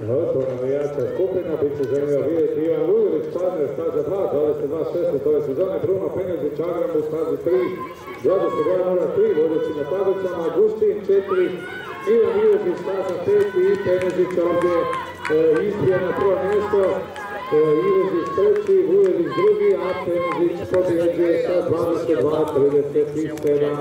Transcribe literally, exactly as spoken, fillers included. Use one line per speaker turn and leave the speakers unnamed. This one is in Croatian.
To navijača skupina bit će želio vidjeti Ivan Vujović, partner staza dva, dvadeset dva šesnaest ove sezone, Bruno Penjezić, Agram u stazi tri, dvadeset dva nula tri, vodeći na tablicama, Agustin četiri, Ivan Vujović staza pet i Penjezić ovdje ispije na prvo mjesto, Ivezić treći, Vujović drugi, a Penjezić pobjeđuje sa dvadeset dva trideset sedam.